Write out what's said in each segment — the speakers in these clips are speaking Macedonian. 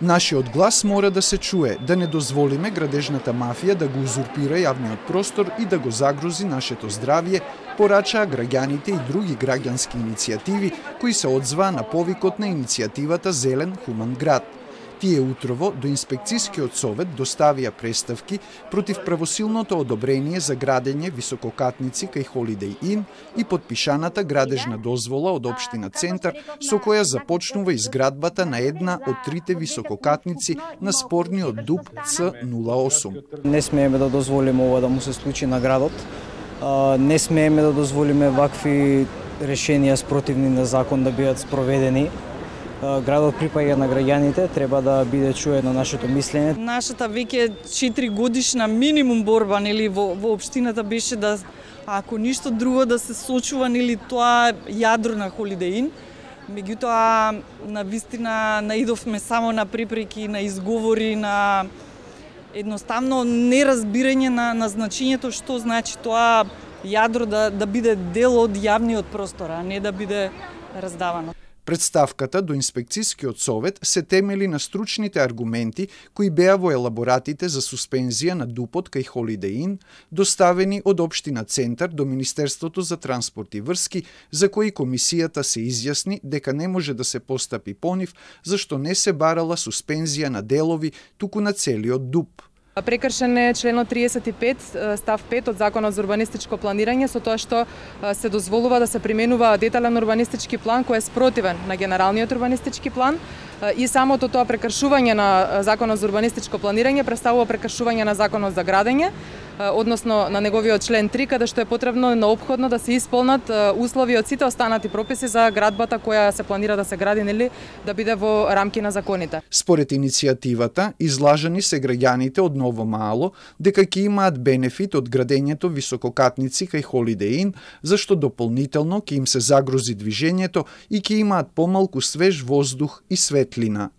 Нашиот глас мора да се чуе, да не дозволиме градежната мафија да го узурпира јавниот простор и да го загрози нашето здравје, порачаа граѓаните и други граѓански иницијативи кои се одзваа на повикот на иницијативата Зелен хуман град. Тие утрово до Инспекцијскиот совет доставија преставки против правосилното одобрение за градење висококатници кај Holiday Inn и подпишаната градежна дозвола од Општина Центар со која започнува изградбата на една од трите висококатници на спорниот ДУП Ц08. Не смееме да дозволиме ова да му се случи на градот. Не смееме да дозволиме вакви решенија спротивни на закон да бидат спроведени. Градот припаѓа на граѓаните, треба да биде чуено нашето мислење. Нашата веќе 4 годишна минимум борба во општината беше да, ако ништо друго, да се сочува тоа јадро на Holiday Inn. Меѓутоа, навистина наидовме само на препреки, на изговори, на едноставно неразбирање на значењето што значи тоа јадро да биде дел од јавниот простор, а не да биде раздавано. Представката до Инспекцијскиот совет се темели на стручните аргументи кои беа во елаборатите за суспензија на ДУП-от кај Holiday Inn, доставени од Општина Центар до Министерството за транспорт и врски, за кои комисијата се изјасни дека не може да се постапи по нив, зашто не се барала суспензија на делови, туку на целиот ДУП. Прекршен е членот 35 став 5 од Законот за урбанистичко планирање со тоа што се дозволува да се применува детален урбанистички план кој е спротивен на генералниот урбанистички план и самото тоа прекршување на Законот за урбанистичко планирање представува прекршување на Законот за градење, односно на неговиот член 3, каде што е потребно неопходно да се исполнат услови од сите останати прописи за градбата која се планира да се гради, нели, да биде во рамки на законите. Според иницијативата, излажани се граѓаните од Ново Мало дека ќе имаат бенефит од градењето висококатници кај Holiday Inn, зашто дополнително ќе им се загрози движењето и ќе имаат помалку свеж воздух и светлина.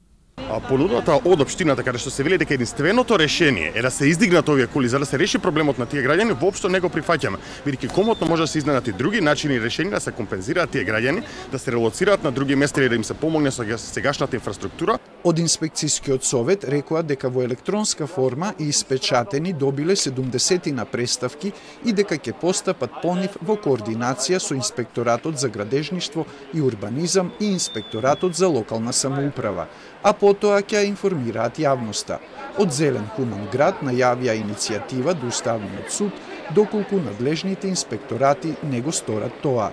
Понудата од општината каде што се вели дека единственото решение е да се издигнат овие кули за да се реши проблемот на тие граѓани, воопшто не го прифаќаме, бидејќи комотно може да се изненат и други начини и решенија да се компензираат тие граѓани, да се релоцираат на други места или да им се помогне со сегашната инфраструктура. Од Инспекцијскиот совет рекоа дека во електронска форма и испечатени добиле 70 на преставки и дека ќе постапат по нив во координација со Инспекторатот за градежништво и урбанизам и Инспекторатот за локална самоуправа, а потоа ќе информираат јавноста. Од Зелен хуман град најавија иницијатива до Уставниот суд, доколку надлежните инспекторати не го сторат тоа.